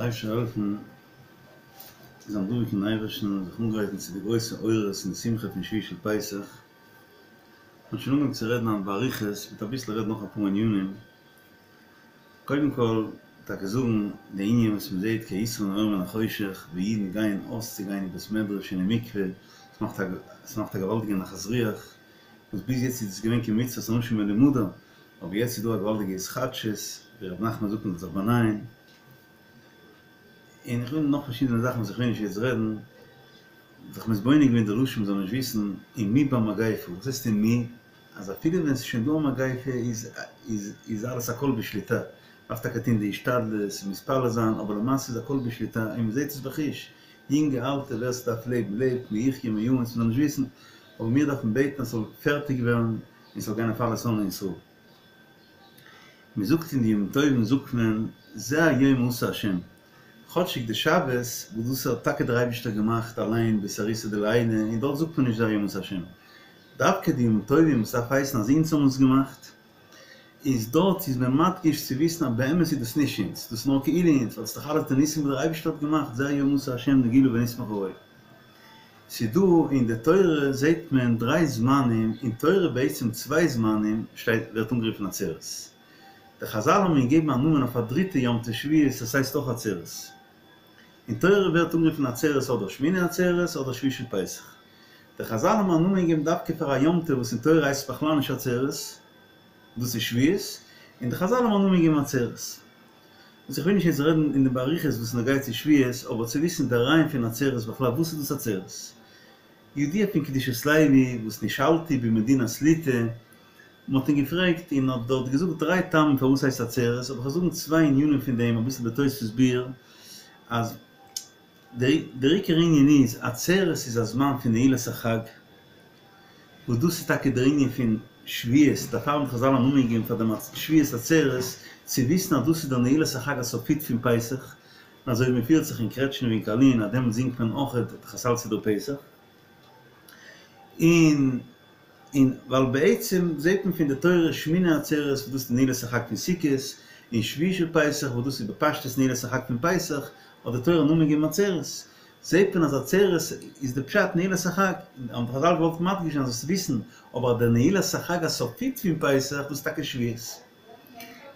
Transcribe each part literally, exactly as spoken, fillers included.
דער אייבערשטער זאל העלפן זיין דבוק אין אייבערשטן און זיך אנגרייטן צו די גרויסע אורות און שמחה פון שביעי של פסח. מ'האט שוין אנגעהויבן צו רעדן היינט באריכות, מ'וועט אביסל רעדן נאך אפאר ענינים. קודם כל, טאקע זאגן די ענין וואס מ'זעט כיתרון האור מן החושך, ווי אידן גייען אויס צו גיין אין בית מדרש און אין מקווה, עס מאכט א עס מאכט א געוואלדיגע נחת רוח, וואס ביז יעצט איז עס געווען כמצוות אנשים מלומדה, אבער יעצט איז דא א געוואלדיגע התחדשות, ווי ר' נחמן זאגט מ'זאל זיך באנייען. און איך וויל נאך פארשידענע זאכן וואס איך וויל נישט יעצט רעדן, זיך מתבונן געווען די לשון מ'זאל נישט וויסן ומי במגיפה, וואס הייסט ומי? אז אפילו ווען ס'איז שוין דא א מגיפה איז איז איז אלעס הכל בשליטה, מ'דארף טאקע טון די השתדלות און מתפלל זיין אבער למעשה איז הכל בשליטה און מ'זעט עס בחוש, יונגע אלטע ווער ס'דארף לעבן לעבט, מי יחיה מי ימות מ'זאל נישט וויסן, אבער מיר דארפן בעטן אז ס'זאל פערטיג ווערן און ס'זאל גיין אויף אלע שונאי ישראל. מען זאגט אין די ימים טובים זאגט מען זה היום עשה השם, כאטשיג די שבת וואס דאס האט טאקע דער אייבישטער געמאכט אליין באתערותא דלעילא און דארט זאגט מען נישט זה היום עשה השם, דווקא די ימים טובים וואס דארף הייסן אז אונז האבן עס געמאכט, איז דארט איז מען מדגיש צו וויסן אז באמת איז דאס נישט אונז, דאס איז נאר כאילו אונז, ווייל עס איז דאך אלעס די ניסים וואס דער אייבישטער האט געמאכט, זה היום עשה השם נגילה ונשמחה בו. ס'איז דא אין די תורה זעהט מען דריי זמנים, אין תורה בעצם צוויי זמנים שטייט ווערט אנגערופן עצרת. די חזל האבן געגעבן א נאמען אויף א דריטע יום טוב שבועות עס הייסט אויך עצרת. אין תורה ווערט אנגערופן עצרת אדער שמיני עצרת אדער שביעי של פסח. די חזל האבן א נאמען געגעבן דווקא פאר א יום טוב וואס אין תורה הייסט עס בכלל נישט עצרת, דאס איז שבועות, און די חזל האבן א נאמען געגעבן עצרת. וואס איך וויל נישט יעצט רעדן אין די באריכות וואס נוגע צו שבועות, אבער צו וויסן די רעיון פון עצרת בכלל, וואס איז דאס עצרת? ידוע פון קדושת לוי וואס נשאלתי במדינת ליטא, מען האט אים געפרעגט און האט דארט געזאגט דריי טעמים פארוואס הייסט עצרת, אבער איך וועל זאגן צוויי ענינים פון דעם אביסל בתוספות ביאור, אז דער עיקר ענין איז, עצרת איז א זמן פון נעילת החג, וואס דאס איז טאקע דער ענין פון שבועות, דערפאר האבן חזל א נאמען געגעבן פאר דעם שבועות עצרת, צו וויסן אז דאס איז דער נעילת החג הסופית פון פסח, און אזוי ווי מען פירט זיך אין קרעטשניף און קארלין אז דעמאלט זינגט מען אויך די חסל סידור פסח, און און ווייל בעצם זעט מען פון די תורה שמיני עצרת וואס דאס איז די נעילת החג פון סוכות, און שביעי של פסח וואס דאס איז בפשטות נעילת החג פון פסח, האט די תורה א נאמען געגעבן עצרת. זעט מען אז עצרת איז די פשט נעילת החג, האבן חזל געוואלט מדגיש זיין זאלסט וויסן, אבער דער נעילת החג הסופית פון פסח דאס איז טאקע שבועות.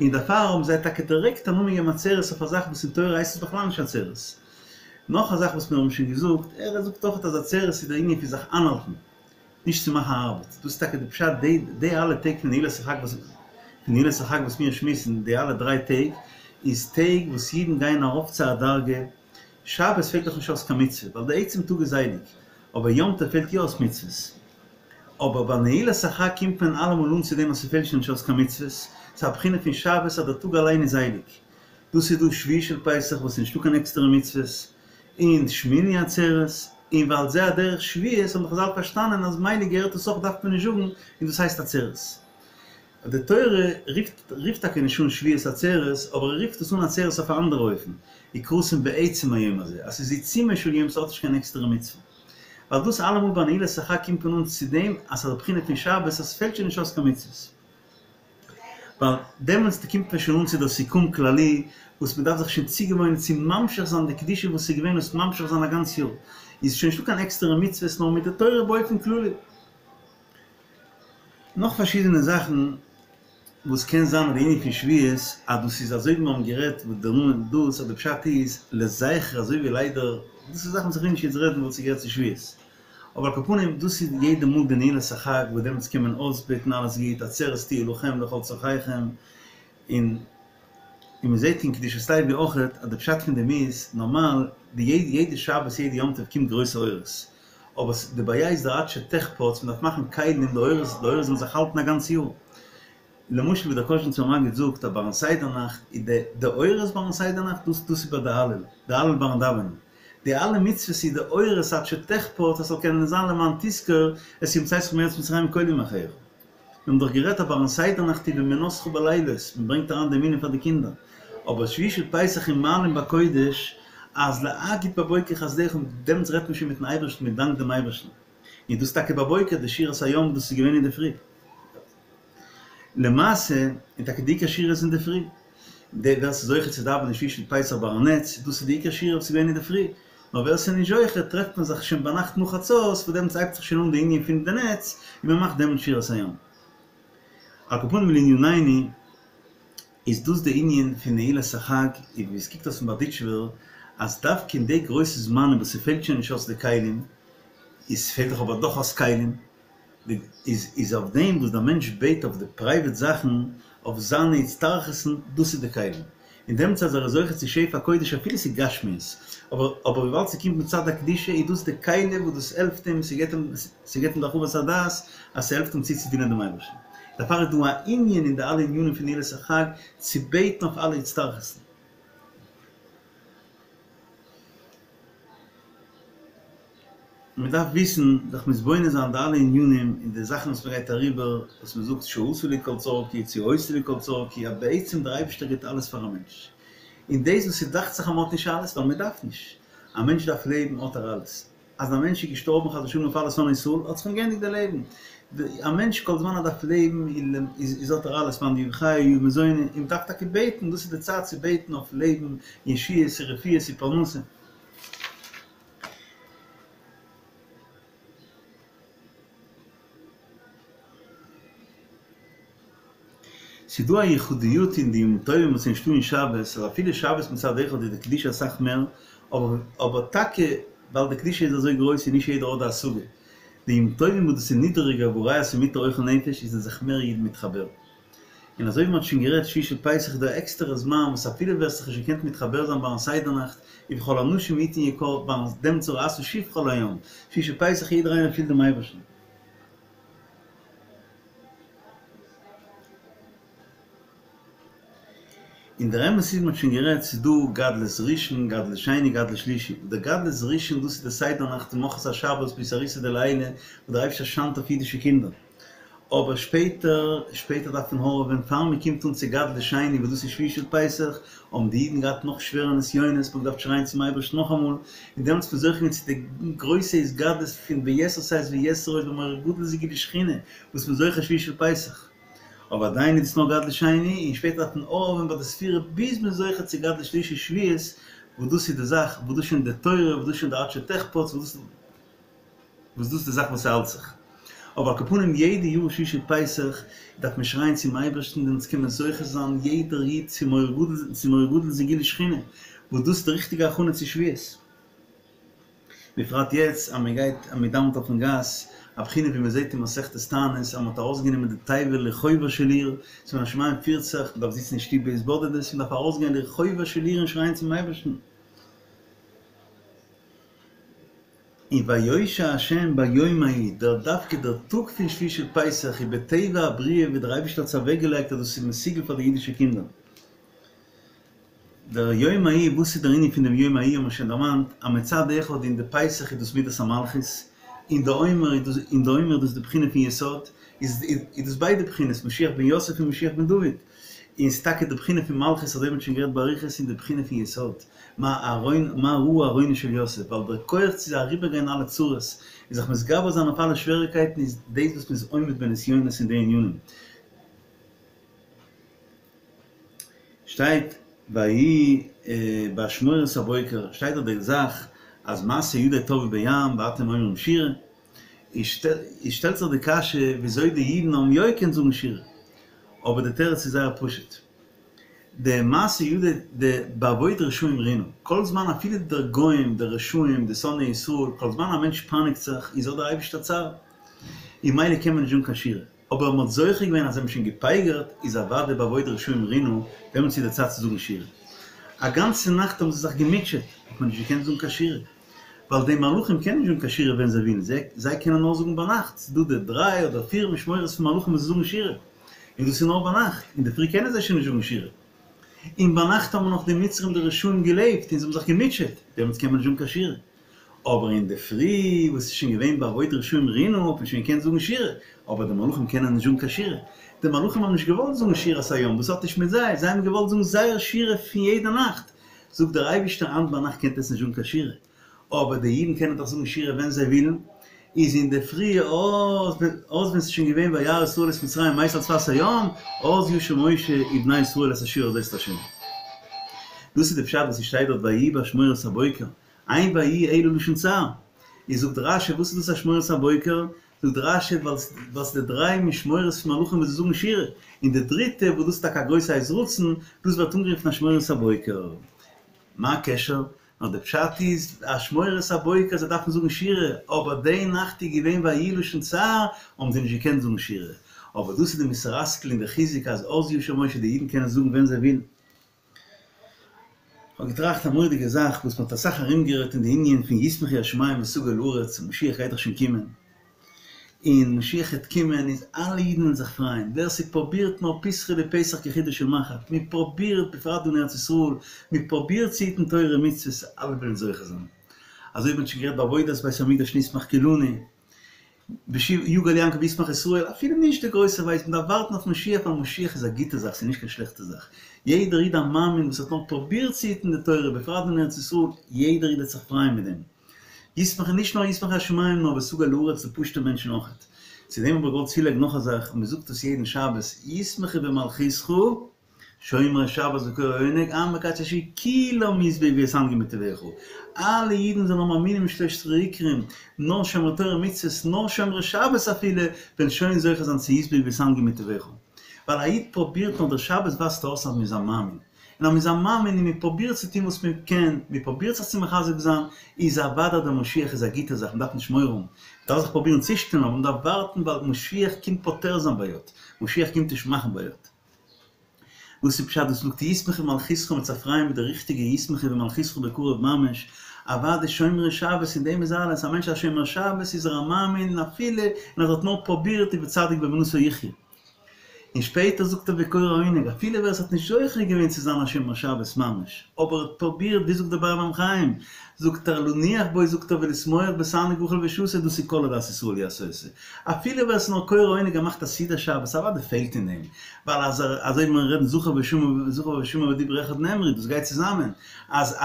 און דערפאר האבן זיי טאקע דירעקט א נאמען געגעבן עצרת אויף א זאך וואס אין תורה הייסט עס בכלל נישט עצרת. נאך א זאך וואס מיר האבן שוין געזאגט, ער זאגט אויך אז עצרת איז דער ענין פון זיך איינהאלטן, נישט צו מאכן ארבעט, דאס איז טאקע די פשט די די אלע טעג פון נעילת החג וואס פון נעילת החג וואס מיר שמועסן די אלע דריי טעג איז טעג וואס אידן גייען ארויף צו א דרגה, שבת פעלט דאך נישט אויס קיין מצוה ווייל די עצם טאג איז הייליג, אבער יום טוב פעלט יא אויס מצוות, אבער ביי נעילת החג קומט מען אלעמאל אן צו דעם אז ס'פעלט שוין נישט אויס קיין מצוות, ס'איז א בחינה פון שבת אז דער טאג אליין איז הייליג, דאס איז דא שביעי של פסח וואס איז נישטא קיין עקסטערע מצוות, און שמיני עצרת, און ועל זה הדרך שבועות האבן חזל פארשטאנען אז מילא געהערט עס אויך דארף מען נישט זאגן און דאס הייסט עצרת. די תורה רופט רופט טאקע נישט אן שבועות עצרת אבער ער רופט עס אן עצרת אויף א אנדערע אופן, וקראתם בעצם היום הזה, אז ס'איז עיצומו של יום ס'האט נישט קיין עקסטערע מצוה. ווייל דאס אלעמאל ביי נעילת החג קומט מען אן צו דעם אז ס'איז א בחינה פון שבת אז ס'פעלט שוין נישט אויס קיין מצוות. ווייל דעמאלטס קומט מען שוין אן צו דער סיכום כללי וואס מען דארף זיך שוין צוגעוואוינען צו ממשיך זיין די קדושה וואס איז געווען און עס ממשיך זיין א גאנץ יאר, איז שוין נישטא קיין עקסטערע מצוות נאר מיט די תורה באופן כללי. נאך פארשידענע זאכן וואס קען זיין די ענין פון שבועות אז דאס איז אזוי ווי מיר האבן גערעדט וואס דער נאמען דאס אז די פשט איז לזכר אזוי ווי ליידער דאס איז זאכן וואס איך וויל נישט יעצט רעדן ווייל ס'געהערט צו שבועות. אבער על כל פנים דאס איז יעדע מאל די נעילת החג וואס דעמאלטס קען מען אויסבעטן אלעס גוט עצרת תהיה לכם לכל צרכיכם און און מען זעט אין קדושת לוי אויכעט אז די פשט פון דעם איז נארמאל די יעדע שבת יעדע יום טוב קומט גרויסע אורות אבער די בעיה איז די עד שתחפץ מען דארף מאכן כלים די אורות די אורות זאלן זיך האלטן א גאנץ יאר למשל ווי דער קאזשניצער מגיד זאגט אז ביים סדר נאכט איז די די אורות ביים סדר נאכט דאס דאס איז ביי די הלל די הלל ביים דאווענען די אלע מצוות איז די אורות עד שתחפץ אז ס'זאל קענען זיין למען תזכור את יום צאתך מארץ מצרים כל ימי חייך. מיר האבן דאך גערעדט אז ביים סדר נאכט איז ואמונתך בלילות, מען ברענגט אריין די אמונה פאר די קינדער, אבער שביעי של פסח איז מעלין בקודש אז להגיד בבוקר חסדך דעמאלטס רעדט מען שוין מיטן אייבערשטן מען דאנקט דעם אייבערשטן, און דאס טאקע בבוקר די שירת הים דאס איז געווען אינדערפרי. למעשה, און טאקע די עיקר שירה איז אינדערפרי. דער ווער ס'איז זוכה צו דאווענען שביעי של פסח ביי הנץ, דאס איז די עיקר שירה וואס איז געווען אינדערפרי, נאר ווער ס'איז נישט זוכה טרעפט מען זיך שוין ביינאכט נאך חצות, וואס דעמאלטס הייבט זיך שוין אן די ענין פון די נץ, און מען מאכט דעמאלטס שירת הים. על כל פנים לענינינו, איז דאס די ענין פון נעילת החג, און ווי עס קוקט אויס פון בארדיטשובער, אז דווקא אין די גרויסע זמנים וואס ס'פעלט שוין נישט אויס די כלים, איז פעלט דאך אבער דאך אויס כלים, איז איז אויף דעם וואס דער מענטש בעט אויף די פרייוועט זאכן, אויף זיינע הצטרכות'ן, דאס איז די כלים. און דעמאלטס אז ער איז זוכה צו שפע קודש אפילו ס'איז גשמיות, אבער אבער וויבאלד ס'קומט מצד הקדושה איז דאס די כלי וואס דאס העלפט אים, ס'געבט אים ס'געבט אים די הרחבת הדעת אז ס'העלפט אים צו צו דינען דעם אייבערשטן. דערפאר איז דא א ענין אין די אלע ענינים פון נעילת החג צו בעטן אויף אלע הצטרכות'ן. מען דארף וויסן, זיך מתבונן זיין די אלע ענינים און די זאכן וואס מען גייט אריבער, וואס מען זאגט שעשה לי כל צרכי, צו עושה לי כל צרכי, אז בעצם דער אייבערשטער גיבט אלעס פאר א מענטש. און דאס וואס ס'דאכט זיך אז מען האט נישט אלעס, ווייל מען דארף נישט. א מענטש דארף לעבן האט ער אלעס. אז א מענטש איז געשטארבן חס ושלום אויף אלע שונאי ישראל, האט זיך אים געענדיגט די לעבן. א מענטש כל זמן ער דארף לעבן איז האט ער אלעס, מאן דאיהו חיי איהו מזוני, און מען דארף טאקע בעטן, דאס איז די צייט צו בעטן אויף לעבן, ישועות, רפואות און פרנסה. ס'איז דא א יחודיות אין די ימים טובים וואס איז נישטא אין שבת, אז אפילו שבת מצד אחד איז די קדושה אסאך מער, אבער אבער טאקע ווייל די קדושה איז אזוי גרויס איז נישט יעדער האט די השגה. די ימים טובים וואס דאס איז נידעריגער והראיה ס'מותר אוכל נפש איז זענען זיך מער אידן מתחבר. און אזוי ווי מ'האט שוין גערעדט שביעי של פסח איז דא א עקסטערע זמן וואס אפילו ווער ס'האט זיך נישט געקענט מתחבר זיין ביים סדר נאכט וכל האנשים יתן יקר ביים דעם ראתה שפחה על הים שביעי של פסח יעדער איינער פילט דעם אייבערשטן. און דער אמת איז מ'האט שוין גערעדט ס'איז דא גדלות ראשון גדלות שני גדלות שלישי דער גדלות ראשון דאס איז די סדר נאכט ממחרת השבת באתערותא דלעילא וואס דער אייבערשטער שיינט אויף אידישע קינדער אבער שפעטער שפעטער דארף מען הארעווען פאר מען קומט אן צו גדלות שני וואס דאס איז שביעי של פסח, האבן די אידן געהאט נאך שווערע נסיונות, מען האט געדארפט שרייען צום אייבערשטן נאכאמאל, און דעמאלטס איז מען זוכה געווען צו די גרויסע התגדלות פון ביתר שאת ויתר עוז במורא גדול זה גילוי שכינה וואס מען איז זוכה שביעי של פסח. אבער עדיין איז דאס נאר גדלות שני, און שפעטער דארף מען הארעווען ביי די ספירה ביז מען איז זוכה צו גדלות שלישי שבועות, וואס דאס איז די זאך, וואס דאס איז שוין די תורה, וואס דאס איז שוין די עד שתחפץ, וואס דאס. וואס דאס איז די זאך וואס ס'האלט זיך. אבער על כל פנים יעדע יאר שביעי של פסח דארף מען שרייען צום אייבערשטן דעמאלטס קען מען זוכה זיין יעדער איד צו מורא גדול צו מורא גדול זה גילוי שכינה וואס דאס איז די ריכטיגע הכנה צו שבועות. בפרט יעצט אז מען גייט אז מען דאווענט אויפן גאס, א בחינה ווי מען זעט אין מסכת תענית אז מען האט ארויסגענומען די תיבה לרחובה של עיר, ס'מן השמים פירט זיך, מען דארף זיצן אין שטוב בהתבודדות, מען דארף ארויסגיין לרחובה של עיר און שרייען צום אייבערשטן. און ויושע ה' ביום ההוא, דער דווקא דער טאג פון שביעי של פסח איז בטבע הבריאה ווי דער אייבערשטער האט עס אוועקגעלייגט אז דאס איז מסוגל פאר די אידישע קינדער. דער יום ההוא, וואס איז דער ענין פון דעם יום ההוא האבן מיר שוין דערמאנט, אז מצד אחד אין די פסח איז דאס מידת המלכות, אין די עומר איז דאס אין די עומר איז דאס די בחינה פון יסוד, איז איז דאס ביידע בחינות, משיח בן יוסף און משיח בן דוד, און ס'איז טאקע די בחינה פון מלכות אזוי ווי מ'האט שוין גערעדט באריכות אין די בחינה פון יסוד. מה ארון מה ראה ארונו של יוסף, ווייל דער כח צו אריבערגיין אלע צרות און זיך מתגבר זיין אויף אלע שוועריקייטן איז דאס וואס מ'איז עומד בנסיונות אין די ענינים. שטייט ויהי באשמורת הבוקר, שטייט דארט די זאך אז מעשה ידי טבעו בים ואתם אומרים שירה, איז שטעלט זיך די קשיא וויאזוי די אידן האבן יא געקענט זאגן שירה, אבער די תירוץ איז זייער פשוט, די מעשה ידי די באבוד רשעים רינה, כל זמן אפילו די גוים, די רשעים, די שונאי ישראל, כל זמן א מענטש פייניגט זיך, איז האט דער אייבערשטער צער, און ממילא קען מען נישט זאגן קיין שירה, אבער מען האט זוכה געווען אז זיי האבן שוין געפייגערט, איז אוודאי באבוד רשעים רינה, דעמאלטס איז די צייט צו זאגן שירה. א גאנצע נאכט האבן זיי זיך געמוטשעט, האט מען נישט געקענט זאגן קיין שירה, ווייל די מלאכים קענען נישט זאגן קיין שירה ווען זיי ווילן, זיי קענען נאר זאגן ביינאכט, ס'איז דא די דריי אדער פיר משמורות פון מלאכים וואס זאגן שירה. און דאס איז נאר ביינאכט, אינדערפרי קענען זיי שוין נישט זאגן שירה. און ביינאכט האבן נאך די מצרים די רשעים געלעבט און זיי האבן זיך געמוטשעט, דעמאלטס קען מען נישט זאגן קיין שירה. אבער אינדערפרי וואס איז שוין געווען באבוד רשעים רינה האט מען שוין געקענט זאגן שירה, אבער די מלאכים קענען נישט זאגן קיין שירה. די מלאכים האבן נישט געוואלט זאגן שירת הים, דאס האט נישט מיט זיי, זיי האבן געוואלט זאגן זייער שירה פון יעדע נאכט. זאגט דער אייבערשטער היינט ביינאכט קענט עטס נישט זאגן קיין שירה. אבער די אידן קענען דאך זאגן שירה ווען זיי ווילן, איז אינדערפרי אז אז ווען ס'איז שוין געווען וירא ישראל את מצרים מת על שפת הים, אז ישיר משה ובני ישראל את השירה הזאת לה'. דאס איז די פשט וואס ס'שטייט דארט ויהי באשמורת הבוקר, אין ויהי אלא לשון צער. איז זאגט רשי וואס איז דאס אשמורת הבוקר? זאגט רשי ווייל ס'איז די דריי משמורות פון מלאכים וואס זיי זאגן שירה, און די דריטע וואס דאס איז טאקע א גרויסע עת רצון, דאס ווערט אנגערופן אשמורת הבוקר. מה הקשר? נאר די פשט איז, אשמורת הבוקר זיי דארפן זאגן שירה, אבער די נאכט איז געווען ויהי לשון צער, האבן זיי נישט געקענט זאגן שירה. אבער דאס איז די מוסר השכל און די חיזוק אז אז ישיר משה די אידן קענען זאגן ווען זיי ווילן. כ'האב געטראכט א מורא'דיגע זאך וואס מ'האט אסאך ארומגערעדט אין די ענין פון ישמחו השמים ותגל הארץ, משיח גייט דאך שוין קומען, און משיח העט קומען איז אלע אידן וועלן זיך פרייען, ווער ס'פרובירט נאר פתחא דפסח כחודו של מחט, מ'פרובירט בפרט דא אין ארץ ישראל, מ'פרובירט צו היטן תורה ומצוות, אלע וועלן זוכה זיין. אזוי ווי מ'האט שוין גערעדט בעבודת בית המקדש נשמח כולנו. יגל יעקב וישמח ישראל, אפילו נישט די גרויסע ווייסט, מען דארף ווארטן אויף משיח ווייל משיח איז א גוטע זאך, ס'איז נישט קיין שלעכטע זאך. יעדער איד א מאמין וואס האט נאר פרובירט צו היטן די תורה, בפרט אין ארץ ישראל, יעדער איד וועט זיך פרייען מיט דעם. ישמח נישט נאר ישמחו השמים נאר ותגל הארץ די פשוטע מענטשן אויכעט. צו דעם האב איך געוואלט צולייגן נאך א זאך, און מען זאגט עס יעדן שבת, ישמחו במלכותך, שומרי שבת וקוראי עונג, עם מקדשי שביעי כולם ישבעו ויתענגו מטובך, אלע אידן זענען מאמינים אין שלשת עיקרים, נאר שומרי תורה ומצוות, נאר שומרי שבת אפילו, וועלן שוין זוכה זיין צו ישבעו ויתענגו מטובך. ווייל א איד פרובירט נאר דער שבת ווייזט אויס אז מ'איז א מאמין. און אז מ'איז א מאמין און מ'פרובירט צו טון וואס מ'קען, מ'פרובירט זיך צו מחזק זיין, איז אוודאי דער משיח איז א גוטע זאך, מ'דארף נישט מורא האבן. מ'דארף זיך פרובירן צושטעלן, אבער מ'דארף ווארטן ווייל משיח קומט פותר זיין בעיות, משיח קומט נישט מאכן בעיות. וואס איז פשט וואס מ'זאגט ישמחו במלכותך מ'וועט זיך פרייען מיט די ריכטיגע ישמחו במלכותך בקרוב ממש, אוודאי שומרי שבת אין דעם איז אלעס, א מענטש א שומר שבת איז ער א מאמין און אפילו און אז ער האט נאר פרובירט איז וצדיק באמונתו יחיה. און שפעטער זאגט ער וקורא עונג אפילו ווער עס האט נישט זוכה געווען צו זיין א שומר שבת ממש אבער האט פרובירט ווי זאגט דער באר מים חיים זאגט ער לנוח בו זאגט ער ולשמוח בתענוג אוכל ושתה דאס איז כל עדת ישראל יעשו אותו אפילו ווער עס איז נאר קורא עונג ער מאכט א סעודה שבת אוודאי פעלט אין דעם ווייל אז ער אזוי ווי מיר רעדן זכור ושמור זכור ושמור בדיבור אחד נאמרו דאס גייט צוזאמען אז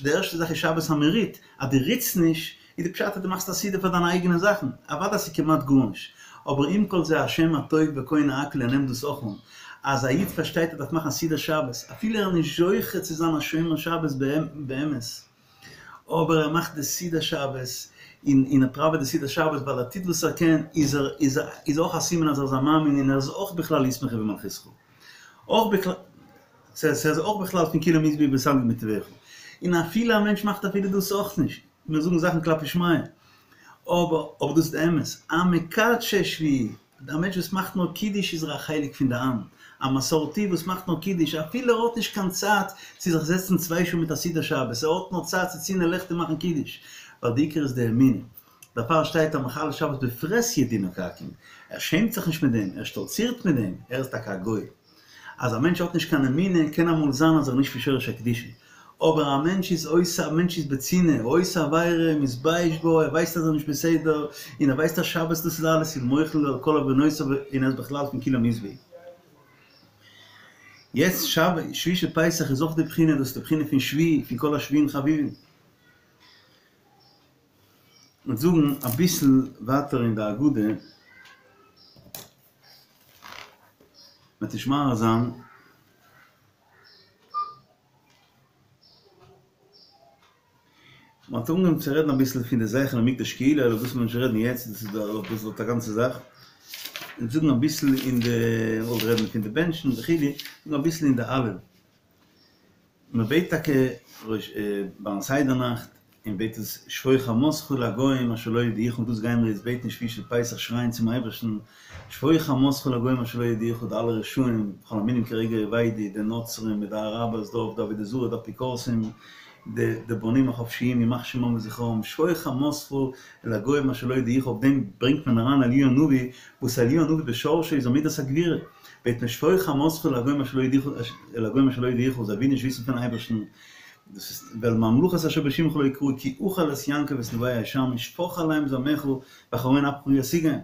די ערשטע זאך איז שבת אז מען רוט אז דו רוטסט נישט איז די פשט אז דו מאכסט א סעודה פאר דיינע אייגענע זאכן אוודאי ס'איז כמעט גארנישט אבער עם כל זה השם הטוב וקונה הכל ער נעמט דאס אויך אן אז א איד פארשטייט ער דארף מאכן א סעודה שבת אפילו ער איז נישט זוכה צו זיין א שומר שבת באמת אבער ער מאכט די סעודה שבת און און ער פראוועט די סעודה שבת ווייל ער טוט וואס ער קען איז ער איז איז אויך א סימן אז ער איז א מאמין און ער איז אויך בכלל ישמחו במלכותך אויך בכלל ס'איז אויך בכלל פון כולם ישבעו ויתענגו מטובך און אפילו א מענטש מאכט אפילו דאס אויך נישט מיר זאגן זאכן כלפי שמיא אבער אבער דאס איז די אמת א מקדשי שביעי א מענטש וואס מאכט נאר קידוש איז ער א חלק פון די עם, א מסורתי וואס מאכט נאר קידוש אפילו ער האט נישט קיין צייט צו זיך זעצן צוויי שעה מיט א סידור שבת, ער האט נאר צייט צו צינדען לעכט און מאכן קידוש, ווייל די עיקר איז די אמונה. דערפאר שטייט המחלל שבת בפרהסיא דינו כעכו"ם, ער שעמט זיך נישט מיט דעם, ער שטאלצירט מיט דעם, ער איז טאקע א גוי. אז א מענטש האט נישט קיין אמונה קען אמאל זיין אז ער איז נישט פון שורש הקדושה, אבער א מענטש איז עושה א מענטש איז בצנעה, עושה עבירה, מתבייש בה, ער ווייסט אז ער איז נישט בסדר, און ער ווייסט אז שבת דאס איז אלעס איז מוחל על כל עוונותיו און ער איז בכלל פון כולם ישבעו. יעצט שבת שביעי של פסח איז אויך די בחינה, דאס איז די בחינה פון שביעי, פון כל השביעין חביבין. מ'וועט זאגן אביסל ווייטער אין די הגדה. מ'וועט נישט מאריך זיין. מ'האט אנגעהויבן צו רעדן אביסל פון די זכר למקדש כאילו, אבער דאס וועט מען נישט רעדן יעצט, דאס איז דאס איז א גאנצע זאך. און זאגן אביסל אין די, מ'וואלט רעדן פון די בענטשן וכו', זאגן אביסל אין די הלל. מען בעט טאקע ביים סדר נאכט, און בעט עס שפוך חמתך לגוים אשר לא ידעוך, דאס גייען מיר יעצט בעטן שביעי של פסח שרייען צום אייבערשטן שפוך חמתך לגוים אשר לא ידעוך, די אלע רשעים, וכל המינים כרגע אבדו, די נוצרים מיט די אראבערס דארט, די עבודה זרה, די אפיקורסים, די די בונים החופשיים ימח שמם וזכרם, שפוך חמתך לגוים אשר לא ידעוך, אויף דעם ברענגט מען אריין אליהו הנביא, וואס אליהו הנביא בשורשו איז א מידת הגבורה. בעט מען שפוך חמתך לגוים אשר לא ידעוך לגוים אשר לא ידעוך זיי ווילן נישט וויסן פון אייבערשטן, דאס איז ואל ממלכות אשר בשמך לא יקראו כי אכל את יעקב ואת נווה ישמש שפוך עליהם זעמך וחרון אפך ישיגם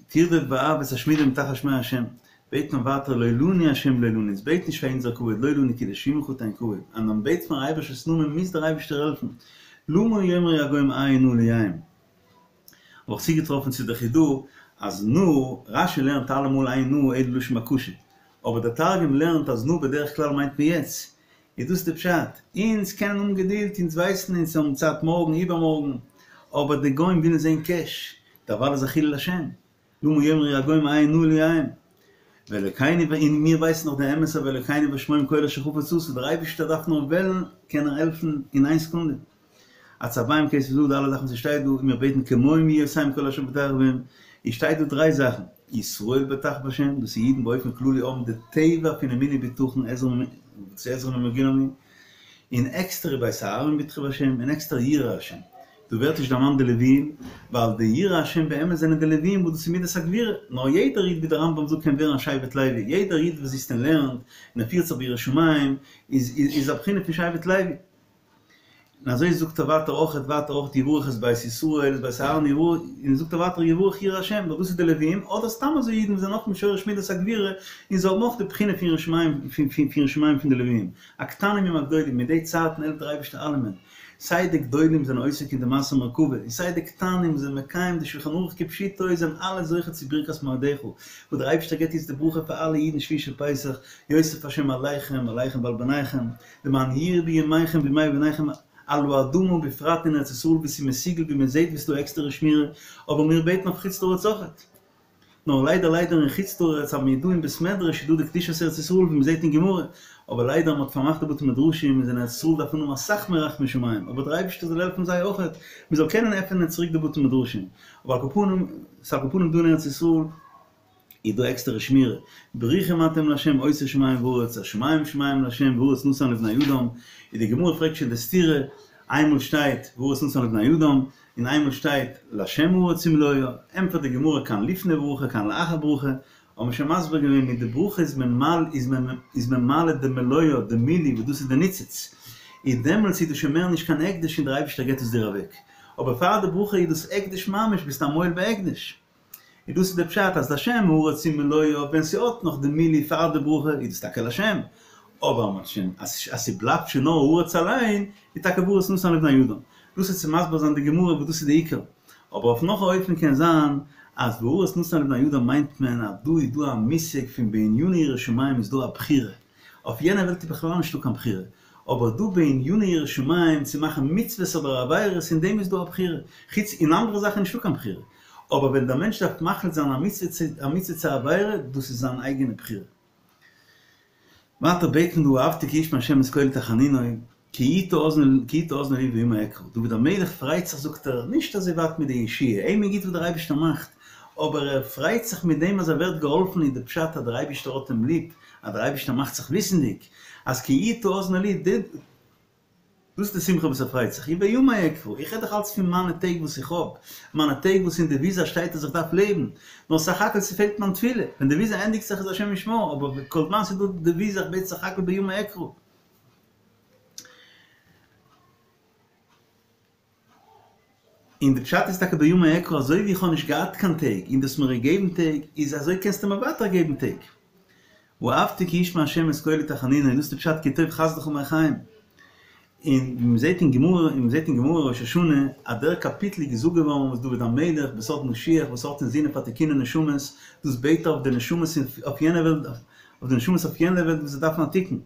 תרדוף באף ותשמידם תחת שמי השם בעט מען ווייטער לא לנו השם לא לנו אונז בעט נישט פאר אונזער כבוד לא לנו כי לשמך תן כבוד אז מען בעט פארן אייבערשטנ'ס נאמען מוז דער אייבערשטער העלפן למה יאמרו הגוים איה נא אלהיהם האב איך צוגעטראפן צו די חידא אז נא, רש"י לערנט אלעמאל אין נא אלא לשון בקשה, אבער דער תרגום לערנט אז נא בדרך כלל מיינט מען יעצט, איז דאס די פשט, אונז קענען האבן געדולד, אונז ווייסן אונז האבן צייט מארגן איבערמארגן, אבער די גוים ווילן זען קעש, דערווייל איז א חילול השם, למה יאמרו הגוים אין נא אלהיהם, ואלוקינו און מיר ווייסן נאך די אמת אז ואלוקינו בשמים כל אשר חפץ עשה, דער אייבערשטער דארף נאר וועלן קען ער העלפן אין איין סעקונדע. עצביהם כסף וזהב די אלע זאכן וואס שטייט דא, און מיר בעטן כמוהם יהיו עושיהם כל אשר בוטח בהם, איז שטייט דא דריי זאכן, ישראל בוטח בהשם, דאס איז אידן באופן כללי האבן די טבע פון אמונה בטחון עזר ומגינם הוא, און עקסטערע בית אהרן בטחו בהשם, און עקסטער יראי השם. דא ווערט נישט דערמאנט די לוויים, ווייל די יראי השם באמת זענען די לוויים וואס דאס איז מידת הגבורה, נאר יעדער איד ווי דער רמב"ם זאגט קען ווערן א שבט לוי, יעדער איד וואס זיצט און לערנט און ער פירט זיך ביראת שמים איז איז א בחינה פון שבט לוי. און אזוי זאגט ער ווייטער אויכעט ווייטער אויכעט יברך את בית ישראל את בית אהרן יברך, און זאגט ער ווייטער יברך יראי השם, ווייל דאס איז די לוויים, אדער סתם אזוי אידן וואס זענען אויך משורש מידת הגבורה און זיי האבן אויך די בחינה פון יראת שמים פון יראת שמים פון די לוויים, הקטנים עם הגדולים, מיט די צייטן העלפט דער אייבערשטער אלעמען, סיי די גדולים זענען עוסק אין די מעשה מרכבה, און סיי די קטנים זענען מקיים די שלחן ערוך כפשוטו, זענען אלע זוכה צו ברכת מועדיך, וואס דער אייבערשטער געבט איצט די ברכה פאר אלע אידן שביעי של פסח, יוסיף השם עליכם ועליכם ועל בניכם, למען ירבו ימיכם וימי בניכם על האדמה בפרט אין ארץ ישראל וואו ס'איז מסוגל ווי מען זעט ווי ס'איז דא עקסטערע שמירה, אבער מיר בעטן אויף חוץ לארץ אויכעט. נאר ליידער ליידער אין חוץ לארץ האבן מיר דא אין בית מדרש איז דא די קדושת ארץ ישראל ווי מ'זעט אין גמרא, אבער ליידער מ'האט פארמאכט די בתי מדרשים איז אין ארץ ישראל דארף מען האבן אסאך מער רחמי שמים, אבער דער אייבערשטער זאל העלפן זיי אויכעט מ'זאל קענען עפענען צוריק די בתי מדרשים, אבער על כל פנים ס'איז על כל פנים דא אין ארץ ישראל איז דא עקסטערע שמירה, ברוכים אתם לה' עושי שמים וארץ, השמים שמים לה' והארץ נתן לבני אדם, איז די גמרא פרעגט שוין די סתירה, איינמאל שטייט והארץ נתן לבני אדם, און איינמאל שטייט לה' הארץ ומלואה, ענטפערט די גמרא כאן לפני ברכה כאן לאחר ברכה, האבן מיר שוין מסביר געווען מיט די ברכה איז מען מעל איז מען איז מען מעלה די מלואה די מילוי וואס דאס איז די ניצוץ, איז דעמאלטס איז דאס שוין מער נישט קיין הקדש און דער אייבערשטער געבט עס דיר אוועק, אבער פאר די ברכה איז דאס הקדש ממש ביסט א מועל בהקדש. און דאס איז די פשט אז לה' הארץ ומלואה ווען ס'האט נאך די מילוי פאר די ברכה איז דאס טאקע לה', אבער מ'האט שוין אז ס'בלייבט שוין נאר הארץ אליין איז טאקע והארץ נתן לבני אדם. דאס איז צו מסביר זיין די גמרא וואס דאס איז די עיקר. אבער אויף נאך א אופן קען זיין אז והארץ נתן לבני אדם מיינט מען אז דא איז דא א מושג פון בעניני יראת שמים איז דא א בחירה, אויף יענע וועלט איז בכלל נישטא קיין בחירה, אבער דא בעניני יראת שמים צו מאכן מצוות אדער עבירות אין דעם איז דא א בחירה, חוץ אין אנדערע זאכן איז נישטא קיין בחירה. אבער ווען דער מענטש דארף מחליט זיין א מצוה צו א מצוה צו א עבירה, דאס איז זיין אייגענע בחירה. ווייטער בעט מען דא אהבתי כי ישמע השם את קולי תחנוני, כי יטה אזני כי יטה אזנו לי ובימי אקרא. דוד המלך פרייט זיך זאגט ער, נישט אזוי ווייט מיט די ישועה, אים איז גוט וואס דער אייבערשטער מאכט, אבער ער פרייט זיך מיט דעם אז ער ווערט געהאלפן איז די פשט אז דער אייבערשטער האט אים ליב, אז דער אייבערשטער מאכט זיך וויסנדיג אז כי יטה אזנו לי, דאס איז די שמחה וואס ער פרייט זיך, ובימי אקרא, איך רעד דאך אלץ פון מיינע טעג וואס איך האב, מיינע טעג וואס אין די וויזא שטייט אז איך דארף לעבן, נאר סך הכל ס'פעלט מיין תפילה, ווען די וויזא ענדיגט זיך איז השם ישמור, אבער כל זמן ס'איז דא די וויזא איך בעט סך הכל בימי אקרא. און די פשט איז טאקע בימי אקרא אזוי ווי איך האב נישט געהאט קיין טעג און דו האסט מיר געגעבן טעג איז אזוי קענסטו מיר ווייטער געבן טעג. אהבתי כי ישמע ה' את קולי תחנוני און דאס איז די פשט כי טוב חסדך מחיים. און ווי מען זעט אין גמרא און מען זעט אין גמרא ראש השנה אז דער קאפיטל איז געזאגט געווארן וואס דוד המלך בסוד משיח וואס האט אינזינען פאר תיקוני נשמות דאס בעט ער אויף די נשמות אויף יענע וועלט אויף די נשמות אויף יענע וועלט וואס זיי דארפן א תיקון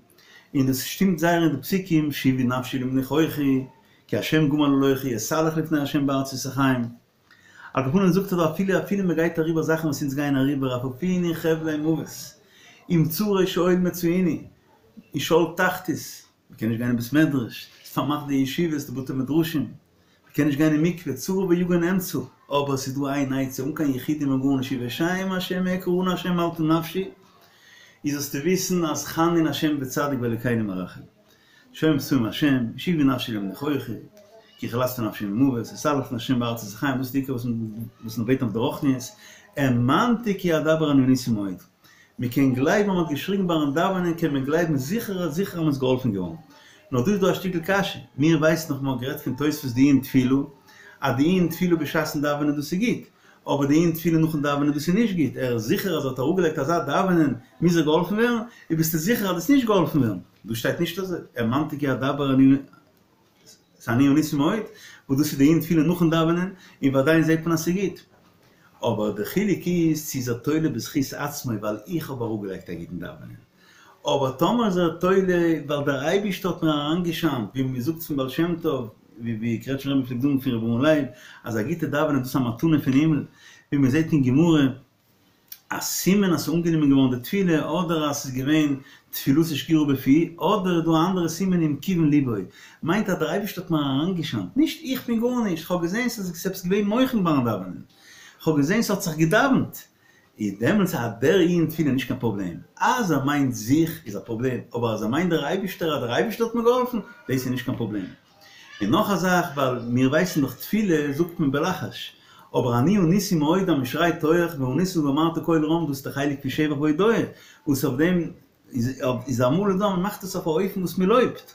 און דאס שטימט זייער אין די פסוקים שובי נפשי למנוחכי כי ה' גמל עליכי אתהלך לפני ה' בארצות החיים. על כל פנים זאגט ער דא אפילו אפילו מען גייט אריבער זאכן וואס אונז גייען אריבער אפפוני חבלי מוות עם צרי שאול מצאוני אין שאול תחתית, מען קען נישט גיין אין בית מדרש, ס'איז פארמאכט די ישיבות די בתי מדרשים, מען קען נישט גיין אין מקווה, צרה ויגון אמצא, אבער ס'איז דא איין עצה אן קיין יחודים און גארנישט ובשם השם אקרא אנא השם מלטה נפשי, איז זאלסטו וויסן אז חנון השם וצדיק ואלוקינו מרחם. שומר מבצעים השם, שובי נפשי למנוחכי, כי חלצת נפשי ממוות, אתהלך לפני השם בארצות החיים, דאס איז די עיקר וואס מען בעט אויף די רוחניות, האמנתי כי אדבר אני עניתי מאוד. מען קען גלייבן אז מען האט געשריגן ביים דאווענען קען מען גלייבן זיכער אז זיכער אז מען איז געהאלפן געווארן. נאר דא איז דא א שטיקל קשיא, מיר ווייסן נאך מען האט גערעדט פון תוספות די עיון תפילה, אז די עיון תפילה בשעת'ן דאווענען דאס איז גוט, אבער די עיון תפילה נאכן דאווענען דאס איז נישט גוט, ער איז זיכער אז ער האט אראפגעלייגט אזא דאווענען מוז ער געהאלפן ווערן, און ביסטו זיכער אז דו וועסט נישט געהאלפן ווערן? דא שטייט נישט אזוי, האמנתי כי אדבר אני אני עניתי מאוד, וואס דאס איז די עיון תפילה נאכן דאווענען, און וודאי זעט מען אז ס'איז גוט. אבער די חילוק איז צו איז ער תולה בזכות עצמו ווייל איך האב אראפגעלייגט א גוטן דאווענען, אבער טאמער איז ער תולה ווייל דער אייבישטער האט מיר אריינגעשיינט, ווי מען זאגט פון בעל שם טוב, ווי קרעטשמער רבי פלעגט זאגן פון רבי אהרן לייב, אז א גוטע דאווענען דאס איז א מתנה פון הימל, ווי מען זעט אין גמרא, א סימן אז ס'איז אנגענומען געווארן די תפילה, אדער אז ס'איז געווען תפילתו שגורה בפיו, אדער איז דא א אנדערע סימן אם כיוון ליבו, מיינט אז דער אייבערשטער האט מיר אריינגעשיינט, נישט איך בין גארנישט, כ'האב געזען ס'איז עפעס געווען מוחין ביים דאווענען, כ'האב געזען ס'האט זיך געדאווענט, איז דעמאלטס איז דער ענין תפילה נישט קיין פראבלעם, אז ער מיינט זיך איז א פראבלעם, אבער אז ער מיינט דער אייבערשטער אז דער אייבערשטער האט מיר געהאלפן, דאס איז נישט קיין פראבלעם. און נאך א זאך, ווייל מיר ווייסן דאך תפילה זאגט מען בלחש, אבער אני עניתי מאוד אז מען שרייט הויעך וענית ואמרת קול רם דאס איז די חלק פון שבח והודאה, וואס אויף דעם איז אמאל דא אז מען מאכט עס אויף א אופן וואס מען לויבט.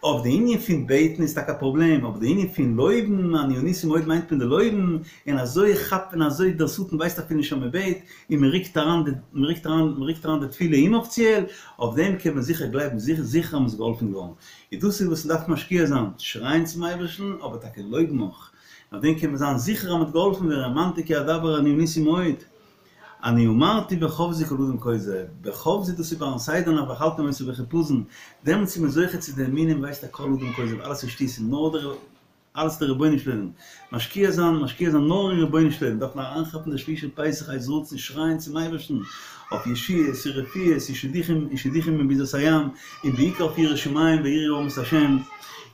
אויף די ענין פון בעטן איז טאקע א פראבלעם, אבער די ענין פון לויבן, אני עניתי מאוד מיינט מען די לויבן, און אזוי כאפט מען אזוי דער שטן ווייסט אפילו נישט אז מען בעט, און מען רוקט אריין די מען רוקט אריין מען רוקט אריין די תפילה אומאפיציעל, אויף דעם קען מען זיכער גלייבן זיכער זיכער אז מען איז געהאלפן געווארן. און דאס איז וואס מען דארף משקיע זיין, שרייען צום אייבערשטן, אבער טאקע לויבן אויך. אויף דעם קען מען זיין זיכער אז מען וועט געהאלפן ווערן, האמנתי כי אדבר אני עניתי מאוד. אני אמרתי בחפזי כל אדם כוזב, בחפזי דאס איז ביים סדר נאכט ואכלתם אותו בחיפזון, דעמאלטס איז מען זוכה צו די אמונה, מען ווייסט אז כל אדם כוזב, אלעס איז שטותים, נאר דער אלעס דער רבונו של עולם, משקיע זיין, משקיע זיין נאר אין רבונו של עולם, דארף מען אריינכאפן די שביעי של פסח עת רצון, שרייען צום אייבערשטן אויף ישועות און רפואות און שידוכים און שידוכים אין ביזת הים, און בעיקר אויף יראת שמים ויראו העם את השם,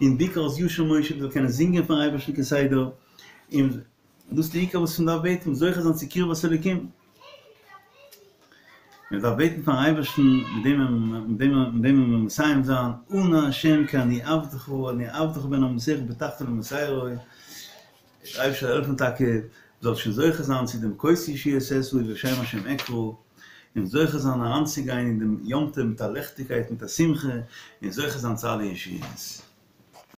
און בעיקר אז ישיר משה מ'זאל קענען זינגען פארן אייבערשטן כסדר, און דאס איז די עיקר וואס מען דארף בעטן, זוכה זיין צו קרבת אלוקים. מען דארף בעטן פארן אייבערשטן, מיט דעם מיט דעם מיט דעם וועלן מיר מסיים זיין, אנא השם כי אני עבדך אני עבדך בן אמתך בטחת במסרו, דער אייבערשטער זאל העלפן טאקע מ'זאל שוין זוכה זיין צו דעם כוס ישועות אשא ובשם השם אקרא, און זוכה זיין אריינצוגיין אין דעם יום טוב מיט א ליכטיגקייט מיט א שמחה, און זוכה זיין צו אלע ישועות.